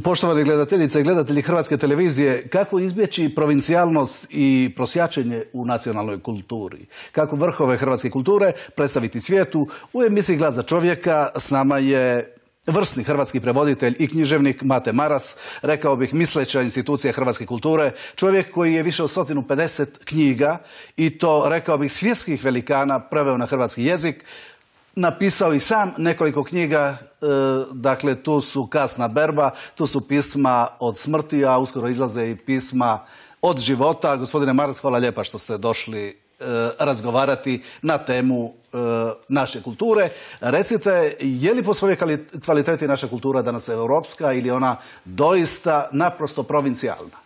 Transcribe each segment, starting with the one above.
Poštovani gledateljice i gledatelji Hrvatske televizije, kako izbjeći provincijalnost i prosjačenje u nacionalnoj kulturi? Kako vrhove hrvatske kulture predstaviti svijetu? U emisiji Glas za čovjeka s nama je vrsni hrvatski prevoditelj i književnik Mate Maras, rekao bih misleća institucija hrvatske kulture, čovjek koji je više od 150 knjiga i to, rekao bih, svjetskih velikana preveo na hrvatski jezik. Napisao i sam nekoliko knjiga, dakle tu su Kasna berba, tu su pisma od smrti, a uskoro izlaze i pisma od života. Gospodine Maras, hvala lijepa što ste došli razgovarati na temu naše kulture. Recite, je li po svojoj kvaliteti naša kultura danas europska ili ona doista naprosto provincijalna?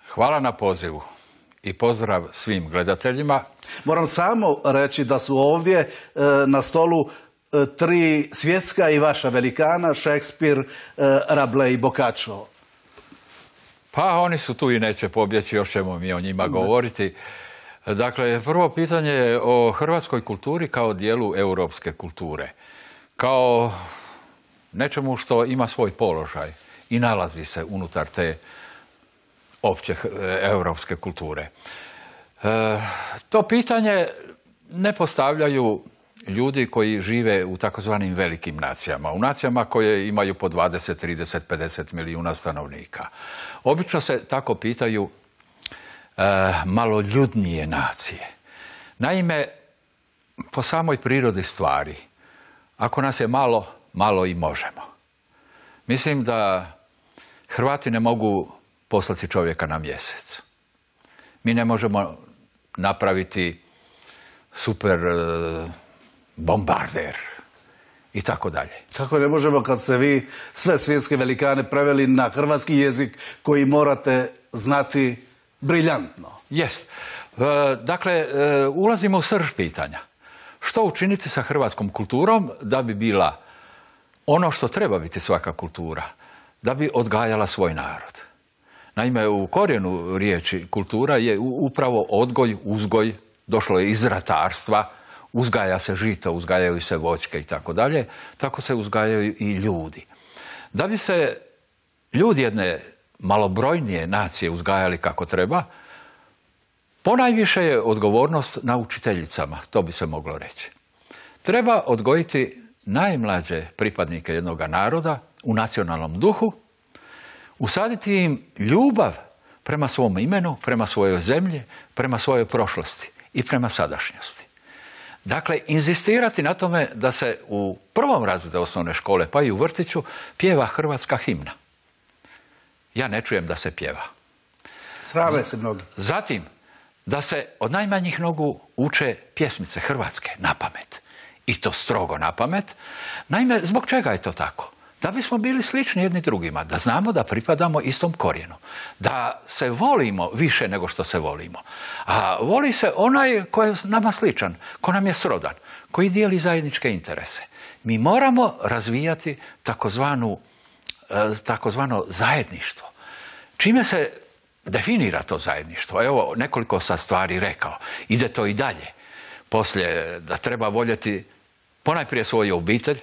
Hvala na pozivu i pozdrav svim gledateljima. Moram samo reći da su ovdje na stolu tri svjetska i vaša velikana, Shakespeare, Rabelais i Boccaccio. Pa oni su tu i neće pobjeći, još ćemo mi o njima govoriti. Dakle, prvo pitanje je o hrvatskoj kulturi kao dijelu europske kulture. Kao nečemu što ima svoj položaj i nalazi se unutar te opće europske kulture. To pitanje ne postavljaju ljudi koji žive u takozvanim velikim nacijama, u nacijama koje imaju po 20, 30, 50 milijuna stanovnika. Obično se tako pitaju maloljudnije nacije. Naime, po samoj prirodi stvari, ako nas je malo, malo i možemo. Mislim da Hrvati ne mogu poslati čovjeka na mjesec. Mi ne možemo napraviti super bombarder i tako dalje. Kako ne možemo kad ste vi sve svjetske velikane preveli na hrvatski jezik koji morate znati briljantno? Jest. Dakle, ulazimo u srž pitanja. Što učiniti sa hrvatskom kulturom da bi bila ono što treba biti svaka kultura, da bi odgajala svoj narod? Naime, u korijenu riječi kultura je upravo odgoj, uzgoj, došlo je iz ratarstva, uzgaja se žito, uzgajaju se voćke i tako dalje, tako se uzgajaju i ljudi. Da bi se ljudi jedne malobrojnije nacije uzgajali kako treba, ponajviše je odgovornost na učiteljicama, to bi se moglo reći. Treba odgojiti najmlađe pripadnike jednog naroda u nacionalnom duhu, usaditi im ljubav prema svom imenu, prema svojoj zemlji, prema svojoj prošlosti i prema sadašnjosti. Dakle, inzistirati na tome da se u prvom razredu osnovne škole, pa i u vrtiću, pjeva hrvatska himna. Ja ne čujem da se pjeva. Srave se mnogi. Zatim, da se od najmanjih nogu uče pjesmice hrvatske na pamet. I to strogo na pamet. Naime, zbog čega je to tako? Da bismo bili slični jedni drugima, da znamo da pripadamo istom korijenu, da se volimo više nego što se volimo. A voli se onaj koji je nama sličan, ko nam je srodan, koji dijeli zajedničke interese. Mi moramo razvijati takozvano zajedništvo. Čime se definira to zajedništvo? Evo, nekoliko sam stvari rekao. Ide to i dalje. Poslije da treba voljeti ponajprije svoju obitelj,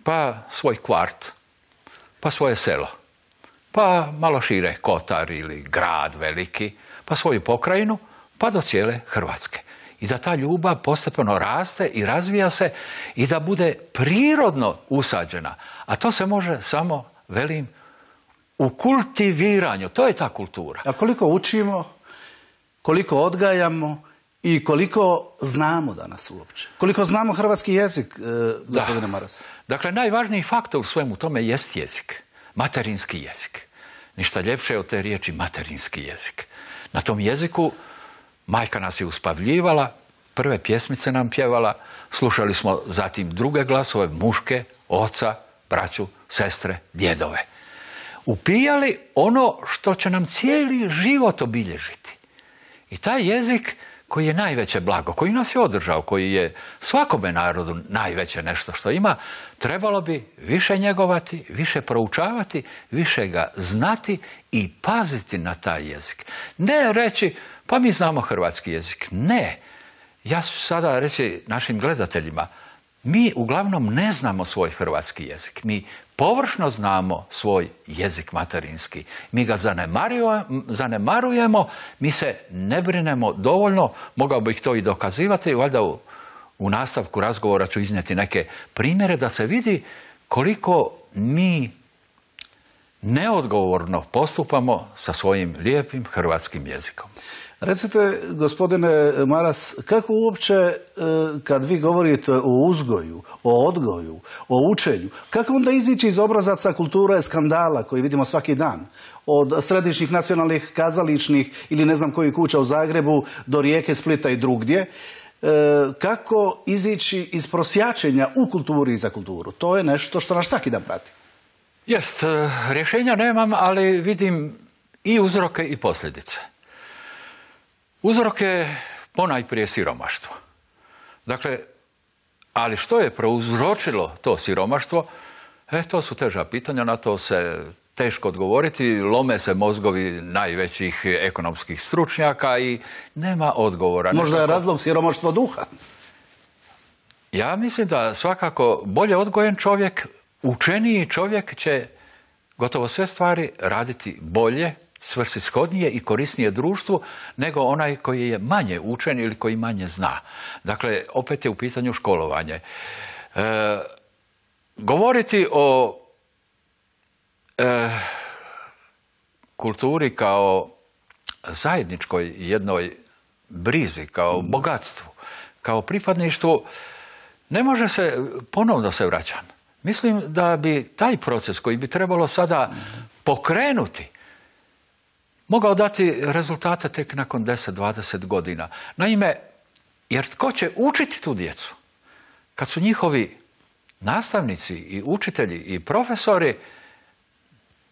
pa svoj kvart, pa svoje selo, pa malo šire kotar ili grad veliki, pa svoju pokrajinu, pa do cijele Hrvatske. I da ta ljubav postepeno raste i razvija se i da bude prirodno usađena. A to se može samo, velim, u kultiviranju. To je ta kultura. A koliko učimo, koliko odgajamo i koliko znamo danas uopće? Koliko znamo hrvatski jezik, gospodine Maras? Dakle, najvažniji faktor u svemu tome jest jezik. Materinski jezik. Ništa ljepše od te riječi materinski jezik. Na tom jeziku majka nas je uspavljivala, prve pjesmice nam pjevala, slušali smo zatim druge glasove, muške, oca, braću, sestre, djedove. Upijali ono što će nam cijeli život obilježiti. I taj jezik koji je najveće blago, koji nas je održao, koji je svakome narodu najveće nešto što ima, trebalo bi više njegovati, više proučavati, više ga znati i paziti na taj jezik. Ne reći, pa mi znamo hrvatski jezik. Ne. Ja ću sada reći našim gledateljima, mi uglavnom ne znamo svoj hrvatski jezik. Mi površno znamo svoj jezik materinski. Mi ga zanemarujemo, mi se ne brinemo dovoljno, mogao bih to i dokazivati, valjda u nastavku razgovora ću iznijeti neke primjere da se vidi koliko mi neodgovorno postupamo sa svojim lijepim hrvatskim jezikom. Recite, gospodine Maras, kako uopće, kad vi govorite o uzgoju, o odgoju, o učenju, kako onda izići iz obrazaca kulture skandala koji vidimo svaki dan? Od središnjih nacionalnih kazališnih ili ne znam kojih kuća u Zagrebu do Rijeke, Splita i drugdje. Kako izići iz prosjačenja u kulturi i za kulturu? To je nešto što nas svaki dan prati. Jest, rješenja nemam, ali vidim i uzroke i posljedice. Uzrok je ponajprije siromaštvo. Dakle, ali što je prouzročilo to siromaštvo? To su teža pitanja, na to se teško odgovoriti, lome se mozgovi najvećih ekonomskih stručnjaka i nema odgovora. Možda je razlog siromaštvo duha? Ja mislim da svakako bolje odgojen čovjek, učeniji čovjek će gotovo sve stvari raditi bolje, svrsishodnije i korisnije društvu nego onaj koji je manje učen ili koji manje zna. Dakle, opet je u pitanju školovanje. Govoriti o kulturi kao zajedničkoj jednoj brizi, kao bogatstvu, kao pripadništvu, ne može se, ponovno se vraćam. Mislim da bi taj proces koji bi trebalo sada pokrenuti mogao dati rezultate tek nakon 10-20 godina. Naime, jer tko će učiti tu djecu? Kad su njihovi nastavnici i učitelji i profesori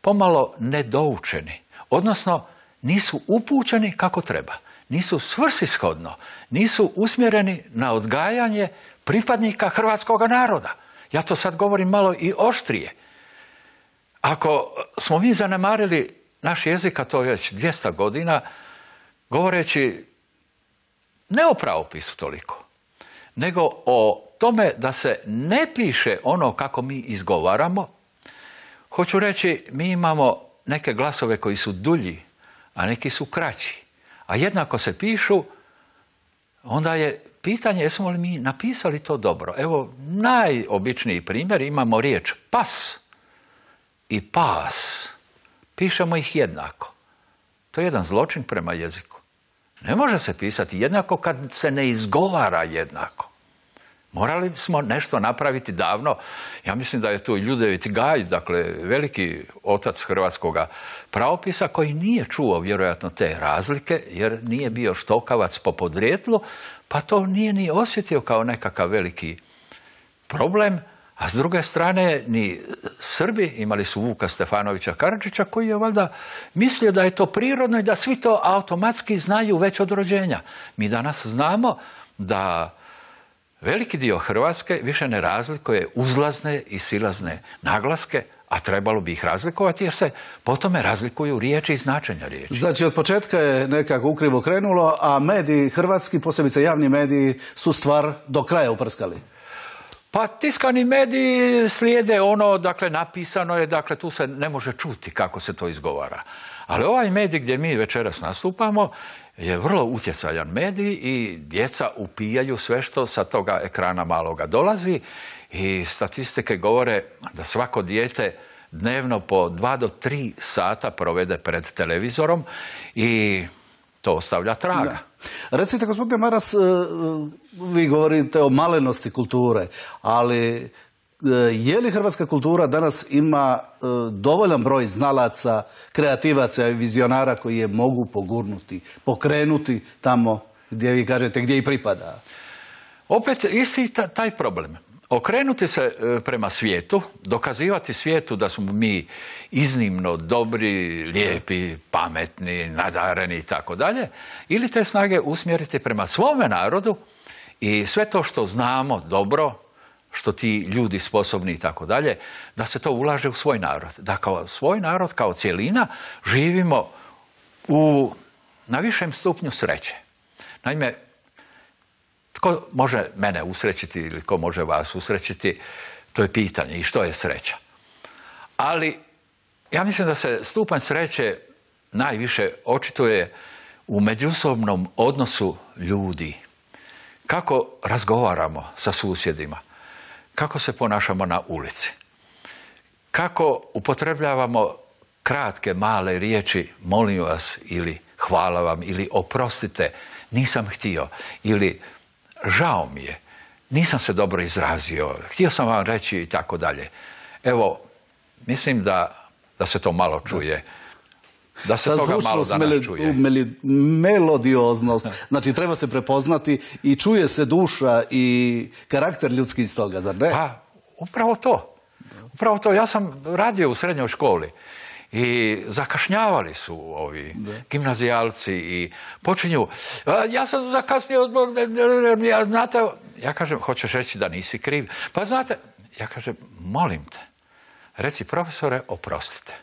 pomalo nedoučeni, odnosno nisu upućeni kako treba, nisu svrsishodno, nisu usmjereni na odgajanje pripadnika hrvatskog naroda. Ja to sad govorim malo i oštrije. Ako smo mi zanemarili naš jezik, a to je već 200 godina, govoreći ne o pravopisu toliko, nego o tome da se ne piše ono kako mi izgovaramo. Hoću reći, mi imamo neke glasove koji su dulji, a neki su kraći. A jednako se pišu, onda je pitanje jesmo li mi napisali to dobro. Evo, najobičniji primjer, imamo riječ pas i pas. Pišemo ih jednako. To je jedan zločin prema jeziku. Ne može se pisati jednako kad se ne izgovara jednako. Morali smo nešto napraviti davno. Ja mislim da je tu Ljudevit Gaj, dakle veliki otac hrvatskog pravopisa, koji nije čuo vjerojatno te razlike, jer nije bio štokavac po podrijetlu, pa to nije ni osjetio kao nekakav veliki problem. A s druge strane, ni Srbi imali su Vuka Stefanovića Karadžića, koji je valjda mislio da je to prirodno i da svi to automatski znaju već od rođenja. Mi danas znamo da veliki dio Hrvatske više ne razlikuje uzlazne i silazne naglaske, a trebalo bi ih razlikovati jer se po tome razlikuju riječi i značenja riječi. Znači, od početka je nekako ukrivo krenulo, a mediji hrvatski, posebice javni mediji, su stvar do kraja uprskali. Pa tiskani mediji slijede ono, dakle napisano je, dakle tu se ne može čuti kako se to izgovara. Ali ovaj medij gdje mi večeras nastupamo je vrlo utjecajan medij i djeca upijaju sve što sa toga ekrana maloga dolazi i statistike govore da svako dijete dnevno po 2 do 3 sata provede pred televizorom i to ostavlja traga. Da. Recite, gospodine Maras, vi govorite o malenosti kulture, ali je li hrvatska kultura danas ima dovoljan broj znalaca, kreativaca i vizionara koji je mogu pogurnuti, pokrenuti tamo gdje vi kažete gdje i pripada? Opet isti taj problem. Okrenuti se prema svijetu, dokazivati svijetu da smo mi iznimno dobri, lijepi, pametni, nadareni i tako dalje, ili te snage usmjeriti prema svome narodu i sve to što znamo dobro, što ti ljudi sposobni i tako dalje, da se to ulaže u svoj narod. Da kao svoj narod, kao cjelina, živimo na višem stupnju sreće. Naime, Tko može mene usrećiti ili tko može vas usrećiti, to je pitanje i što je sreća. Ali ja mislim da se stupanj sreće najviše očituje u međusobnom odnosu ljudi. Kako razgovaramo sa susjedima, kako se ponašamo na ulici, kako upotrebljavamo kratke, male riječi, molim vas ili hvala vam ili oprostite, nisam htio ili žao mi je, nisam se dobro izrazio, htio sam vam reći i tako dalje. Evo, mislim da se to malo čuje. Da se toga malo danas čuje. Melodioznost. Znači, treba se prepoznati i čuje se duša i karakter ljudski iz toga, zar ne? Pa, upravo to. Upravo to. Ja sam radio u srednjoj školi i zakašnjavali su ovi gimnazijalci i počinju, ja sam zakasnio, znate, ja kažem, hoćeš reći da nisi kriv? Pa znate, ja kažem, molim te, reci profesore, oprostite.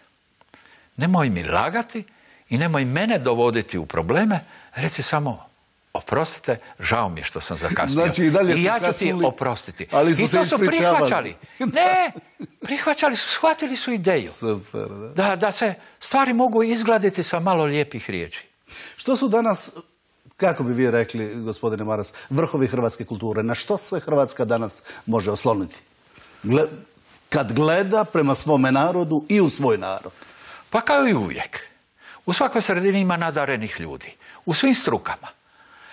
Nemoj mi lagati i nemoj mene dovoditi u probleme, reci samo oprostite, žao mi je što sam zakasnio. Znači, i ja ću ti oprostiti. Ali su i to su prihvaćali. Ne, prihvaćali su, shvatili su ideju. Super, da. Da se stvari mogu izgladiti sa malo lijepih riječi. Što su danas, kako bi vi rekli, gospodine Maras, vrhovi hrvatske kulture? Na što se Hrvatska danas može osloniti? Kad gleda prema svome narodu i u svoj narod. Pa kao i uvijek. U svakoj sredini ima nadarenih ljudi. U svim strukama.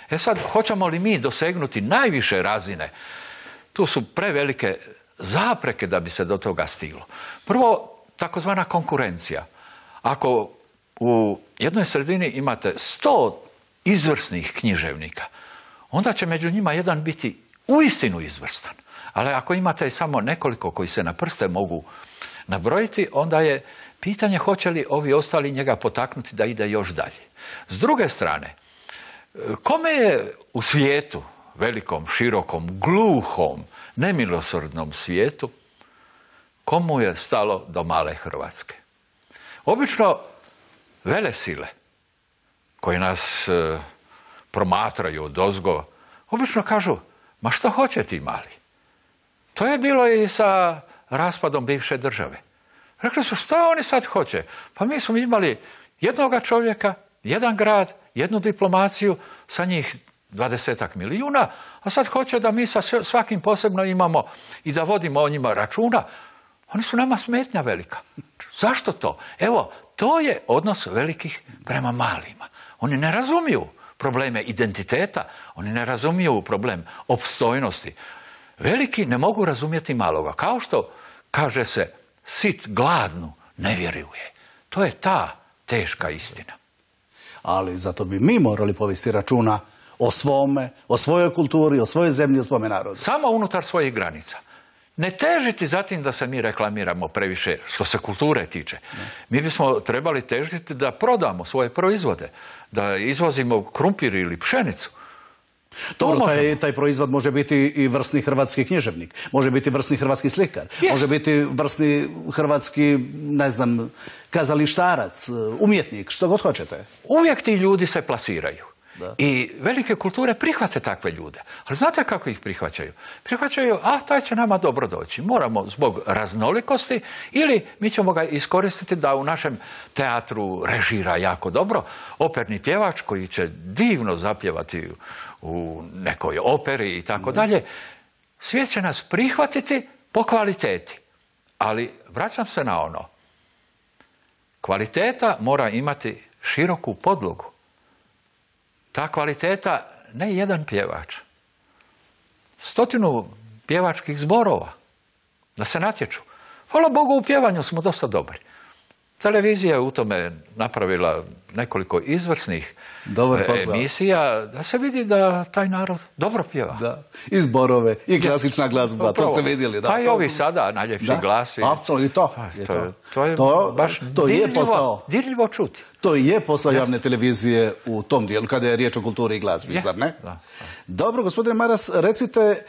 E sad, hoćemo li mi dosegnuti najviše razine? Tu su prevelike zapreke da bi se do toga stiglo. Prvo, takozvana konkurencija. Ako u jednoj sredini imate 100 izvrsnih književnika, onda će među njima jedan biti uistinu izvrstan. Ali ako imate samo nekoliko koji se na prste mogu nabrojiti, onda je pitanje hoće li ovi ostali njega potaknuti da ide još dalje. S druge strane, kome je u svijetu, velikom, širokom, gluhom, nemilosrdnom svijetu, komu je stalo do male Hrvatske? Obično velesile koje nas promatraju odozgo, obično kažu, ma što hoće ti mali? To je bilo i sa raspadom bivše države. Rekli su, što oni sad hoće? Pa mi smo imali jednoga čovjeka, jedan grad, jednu diplomaciju, sa njih 20 milijuna, a sad hoće da mi sa svakim posebno imamo i da vodimo o njima računa. Oni su nama smetnja velika. Zašto to? Evo, to je odnos velikih prema malima. Oni ne razumiju probleme identiteta, oni ne razumiju problem opstojnosti. Veliki ne mogu razumjeti maloga. Kao što kaže se, sit gladnu ne vjeruje. To je ta teška istina. Ali zato bi mi morali povesti računa o svome, o svojoj kulturi, o svojoj zemlji, o svome narodu. Samo unutar svojih granica. Ne težiti zatim da se mi reklamiramo previše što se kulture tiče. Mi bismo trebali težiti da prodamo svoje proizvode, da izvozimo krumpir ili pšenicu. Dobro, taj proizvod može biti i vrsni hrvatski književnik, može biti vrsni hrvatski slikar, može biti vrsni hrvatski, ne znam, kazalištarac, umjetnik, što god hoćete. Uvijek ti ljudi se plasiraju. I velike kulture prihvate takve ljude. Ali znate kako ih prihvaćaju? Prihvaćaju, taj će nama dobro doći. Moramo zbog raznolikosti ili mi ćemo ga iskoristiti da u našem teatru režira jako dobro. Operni pjevač koji će divno zapjevati u nekoj operi i tako dalje. Svijet će nas prihvatiti po kvaliteti. Ali vraćam se na ono. Kvaliteta mora imati široku podlogu. Ta kvaliteta, ne jedan pjevač, 100 pjevačkih zborova, da se natječu. Hvala Bogu, u pjevanju smo dosta dobri. Televizija je u tome napravila nekoliko izvrsnih emisija, da se vidi da taj narod dobro pjeva. Da. I zborove, i klasična glazba, to ste vidjeli. Pa i ovi sada, najljepši glasi. Apsolutno, i to. To je baš dirljivo čuti. To je posao javne televizije u tom dijelu, kada je riječ o kulturi i glazbi, zar ne? Da. Dobro, gospodine Maras, recite,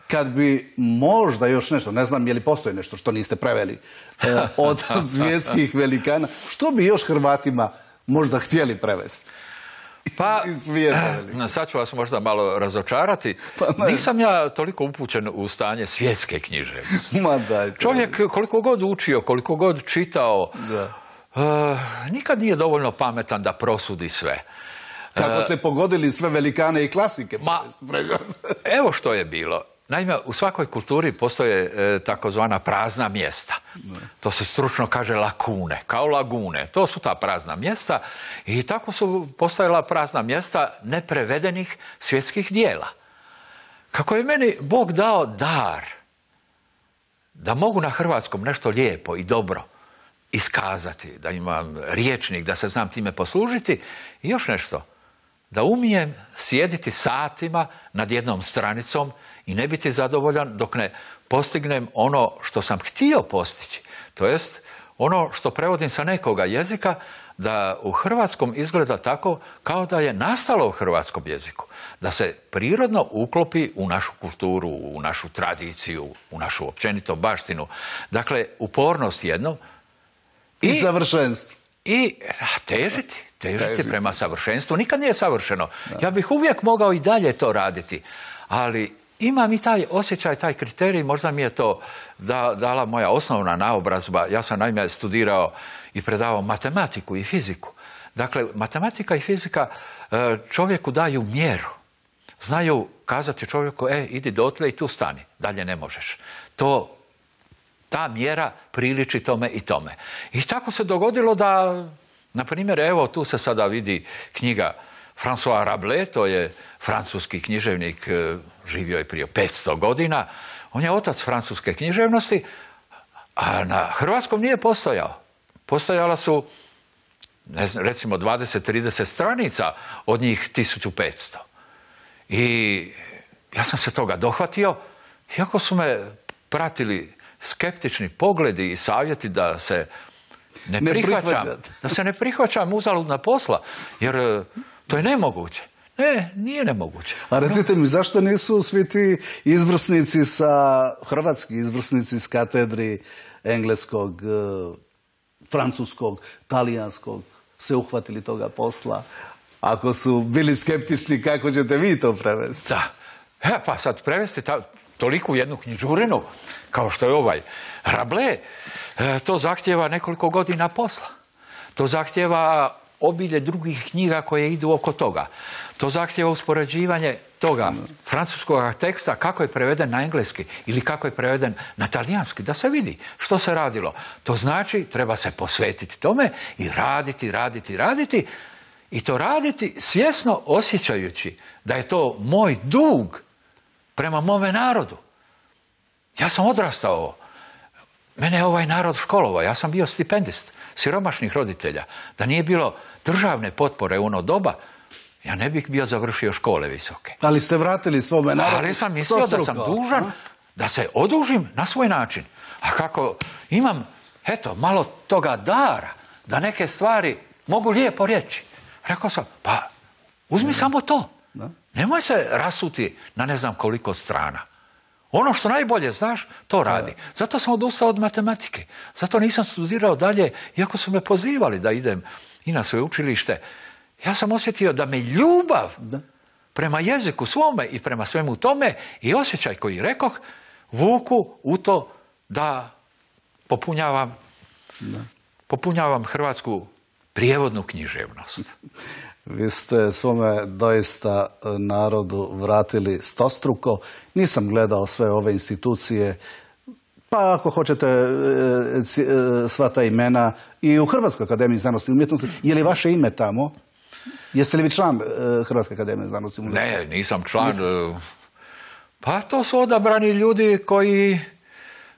kad bi možda još nešto, ne znam je li postoji nešto što niste preveli od svjetskih velikana, što bi još Hrvatima možda htjeli prevesti? Pa, sad ću vas možda malo razočarati. Nisam ja toliko upućen u stanje svjetske književnosti. Čovjek koliko god učio, koliko god čitao, nikad nije dovoljno pametan da prosudi sve. Kako ste pogodili sve velikane i klasike? Evo što je bilo. Naime, u svakoj kulturi postoje takozvana prazna mjesta. To se stručno kaže lakune, kao lagune. To su ta prazna mjesta i tako su postojala prazna mjesta neprevedenih svjetskih dijela. Kako je meni Bog dao dar da mogu na hrvatskom nešto lijepo i dobro iskazati, da imam rječnik, da se znam time poslužiti i još nešto, da umijem sjediti satima nad jednom stranicom i ne biti zadovoljan dok ne postignem ono što sam htio postići. To jest, ono što prevodim sa nekoga jezika, da u hrvatskom izgleda tako kao da je nastalo u hrvatskom jeziku. Da se prirodno uklopi u našu kulturu, u našu tradiciju, u našu općenito baštinu. Dakle, upornost jedno. I savršenstvo. I težiti prema savršenstvu. Nikad nije savršeno. Ja bih uvijek mogao i dalje to raditi. Ali imam i taj osjećaj, taj kriterij, možda mi je to dala moja osnovna naobrazba. Ja sam naime studirao i predavao matematiku i fiziku. Dakle, matematika i fizika čovjeku daju mjeru. Znaju kazati čovjeku, idi dotle i tu stani, dalje ne možeš. Ta mjera priliči tome i tome. I tako se dogodilo da, na primjer, evo tu se sada vidi knjiga François Rabelais, to je francuski književnik, živio je prije 500 godina. On je otac francuske književnosti, a na hrvatskom nije postojao. Postojala su, recimo, 20-30 stranica, od njih 1500. I ja sam se toga dohvatio, iako su me pratili skeptični pogledi i savjeti da se ne prihvaćam uzaludna posla, jer to je nemoguće. Ne, nije nemoguće. A recite mi, zašto nisu svi ti hrvatski izvrsnici s katedri engleskog, francuskog, talijanskog se uhvatili toga posla? Ako su bili skeptični, kako ćete vi to prevesti? Da. Pa sad prevesti toliku jednu knjižurinu, kao što je ovaj Rabelais, to zahtjeva nekoliko godina posla. To zahtjeva obilje drugih knjiga koje idu oko toga. To zahtjeva uspoređivanje toga francuskog teksta, kako je preveden na engleski ili kako je preveden na talijanski, da se vidi što se radilo. To znači, treba se posvetiti tome i raditi i to raditi svjesno osjećajući da je to moj dug prema mome narodu. Ja sam odrastao, mene je ovaj narod školovao, ja sam bio stipendist siromašnih roditelja. Da nije bilo državne potpore u ono doba, ja ne bih bio završio škole visoke. Ali ste vratili svome narodu. Ali sam mislio da sam dužan da se odužim na svoj način. A kako imam, malo toga dara, da neke stvari mogu lijepo reći. Rekao sam, pa uzmi samo to. Nemoj se rasuti na ne znam koliko strana. Ono što najbolje znaš, to radi. Zato sam odustao od matematike. Zato nisam studirao dalje, iako su me pozivali da idem i na sveučilište. Ja sam osjetio da me ljubav prema jeziku svome i prema svemu tome i osjećaj koji rekoh vuku u to da popunjavam hrvatsku prijevodnu književnost. Vi ste svome doista narodu vratili stostruko. Nisam gledao sve ove institucije, pa ako hoćete sva ta imena i u Hrvatskoj akademiji znanosti i umjetnosti. Je li vaše ime tamo? Jeste li vi član Hrvatske akademije znanosti i umjetnosti? Ne, nisam član. Pa to su odabrani ljudi koji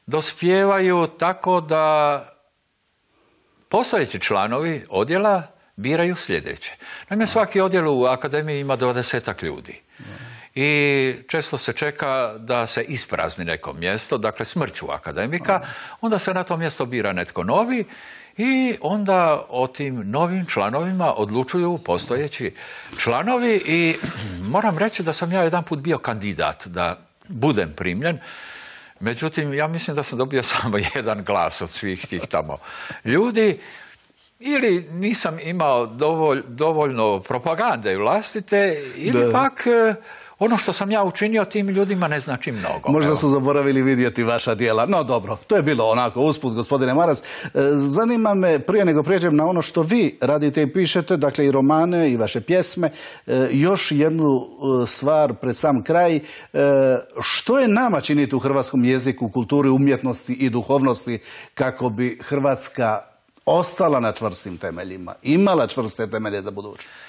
dospijevaju tako da postojeći članovi odjela biraju sljedeće. Naime, svaki odjel u akademiji ima 20 ljudi. I često se čeka da se isprazni neko mjesto, dakle smrću akademika, onda se na to mjesto bira netko novi i onda o tim novim članovima odlučuju postojeći članovi i moram reći da sam ja jedan put bio kandidat da budem primljen. Međutim, ja mislim da sam dobio samo jedan glas od svih tih tamo ljudi. ili nisam imao dovoljno propagande vlastite, ili pak ono što sam ja učinio tim ljudima ne znači mnogo. Možda su zaboravili vidjeti vaša djela. No dobro, to je bilo onako usput, gospodine Maras. Zanima me, prije nego prijeđem na ono što vi radite i pišete, dakle i romane i vaše pjesme, još jednu stvar pred sam kraj. Što je nama činiti u hrvatskom jeziku, kulturi, umjetnosti i duhovnosti kako bi Hrvatska ostala na čvrstim temeljima, imala čvrste temelje za budućnost?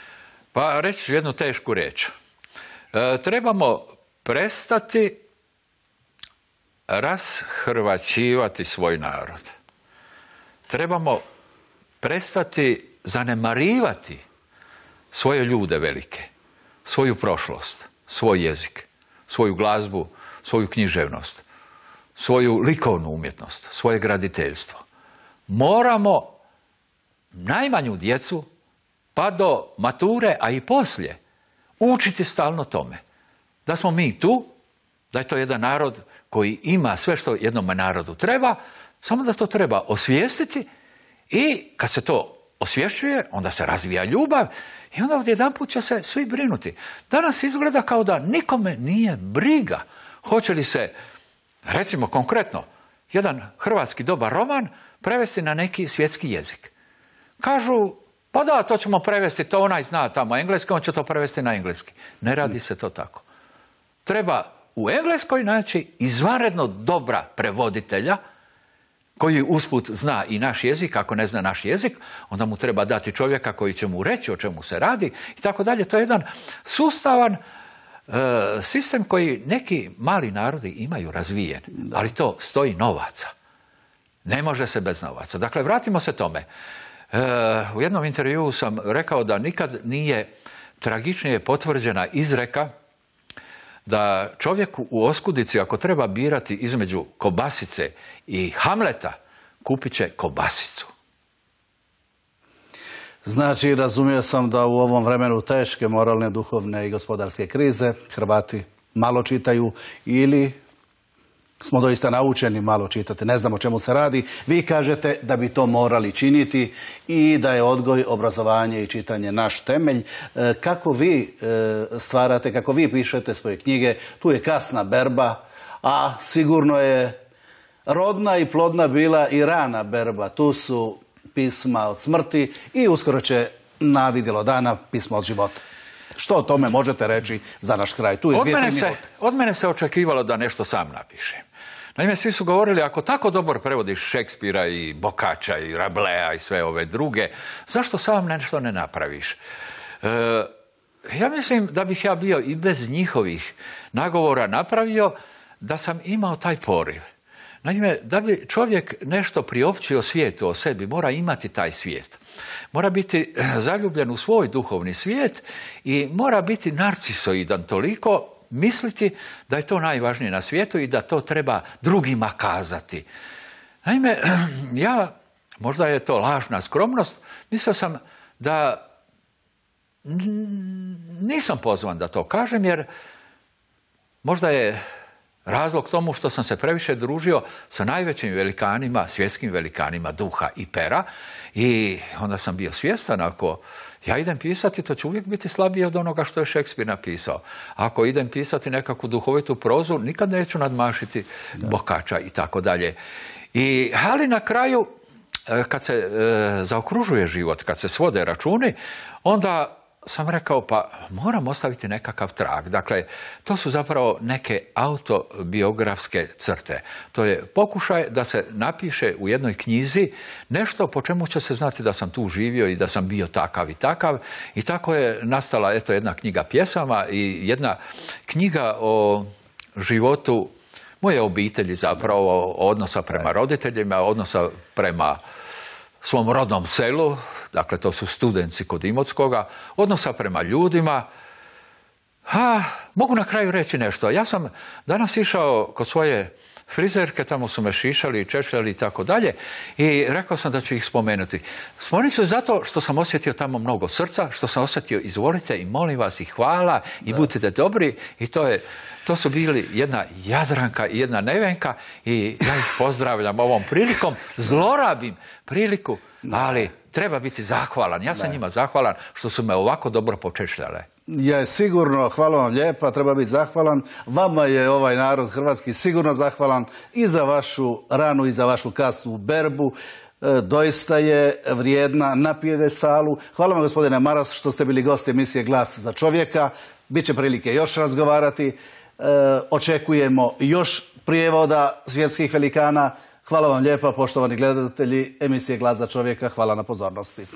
Pa reći ću jednu tešku riječ. Trebamo prestati rashrvaćivati svoj narod. Trebamo prestati zanemarivati svoje ljude velike, svoju prošlost, svoj jezik, svoju glazbu, svoju književnost, svoju likovnu umjetnost, svoje graditeljstvo. Moramo najmanju djecu pa do mature, a i poslije, učiti stalno tome. Da smo mi tu, da je to jedan narod koji ima sve što jednom narodu treba, samo da to treba osvijestiti i kad se to osvješćuje, onda se razvija ljubav i onda odjedanput će se svi brinuti. Danas izgleda kao da nikome nije briga. Hoće li se, recimo konkretno, jedan hrvatski dobar roman prevesti na neki svjetski jezik? Kažu, pa da, to ćemo prevesti, to onaj zna tamo engleski, on će to prevesti na engleski. Ne radi se to tako. Treba u Engleskoj naći izvanredno dobra prevoditelja koji usput zna i naš jezik. Ako ne zna naš jezik, onda mu treba dati čovjeka koji će mu reći o čemu se radi i tako dalje. To je jedan sustavan sistem koji neki mali narodi imaju razvijen, ali to stoji novaca. Ne može se bez novaca. Dakle, vratimo se tome. U jednom intervjuu sam rekao da nikad nije tragičnije potvrđena izreka da čovjeku u oskudici, ako treba birati između kobasice i Hamleta, kupit će kobasicu. Znači, razumio sam da u ovom vremenu teške moralne, duhovne i gospodarske krize Hrvati malo čitaju ili smo doista naučeni malo čitati, ne znamo o čemu se radi. Vi kažete da bi to morali činiti i da je odgoj, obrazovanje i čitanje naš temelj. Kako vi stvarate, kako vi pišete svoje knjige, tu je kasna berba, a sigurno je rodna i plodna bila i rana berba. Tu su pisma od smrti i uskoro će na vidjelo dana pismo od života. Što o tome možete reći za naš kraj? Tu je od mene se očekivalo da nešto sam napišem. Naime, svi su govorili, ako tako dobro prevodiš Šekspira i Boccaccea i Rablea i sve ove druge, zašto sam nešto ne napraviš? Ja mislim da bih ja bio i bez njihovih nagovora napravio da sam imao taj poriv. Naime, da bi čovjek nešto priopćio svijetu o sebi, mora imati taj svijet. Mora biti zaljubljen u svoj duhovni svijet i mora biti narcisoidan toliko, misliti da je to najvažnije na svijetu i da to treba drugima kazati. Naime, ja, možda je to lažna skromnost, mislio sam da nisam pozvan da to kažem, jer možda je razlog tomu što sam se previše družio sa najvećim velikanima, svjetskim velikanima duha i pera, i onda sam bio svjestan, ako ja idem pisati, to će uvijek biti slabije od onoga što je Šekspir napisao. Ako idem pisati nekakvu duhovitu prozu, nikad neću nadmašiti Boccaccea i tako dalje. Ali na kraju, kad se zaokružuje život, kad se svode računi, onda sam rekao, pa moram ostaviti nekakav trag. Dakle, to su zapravo neke autobiografske crte. To je pokušaj da se napiše u jednoj knjizi nešto po čemu će se znati da sam tu živio i da sam bio takav i takav. I tako je nastala jedna knjiga pjesama i jedna knjiga o životu moje obitelji, zapravo odnosa prema roditeljima, odnosa prema svom rodnom selu, dakle to su Studenci kod Imotskoga, odnosa prema ljudima. Mogu na kraju reći nešto. Ja sam danas išao kod svoje frizerke, tamo su me šišali, češljali i tako dalje, i rekao sam da ću ih spomenuti. Spomenut ću zato što sam osjetio tamo mnogo srca, što sam osjetio izvolite i molim vas i hvala i budite dobri, i to su bili jedna Jadranka i jedna Nevenka, i ja ih pozdravljam ovom prilikom, zlorabim priliku, ali treba biti zahvalan. Ja sam njima zahvalan što su me ovako dobro počešljale. Je sigurno, hvala vam lijepa, treba biti zahvalan. Vama je ovaj narod hrvatski sigurno zahvalan i za vašu ranu i za vašu kasnu berbu. Doista je vrijedna na pijedestalu. Hvala vam, gospodine Maras, što ste bili gost emisije Glas za čovjeka. Biće prilike još razgovarati. Očekujemo još prijevoda svjetskih velikana. Hvala vam lijepa, poštovani gledatelji emisije Glas za čovjeka. Hvala na pozornosti.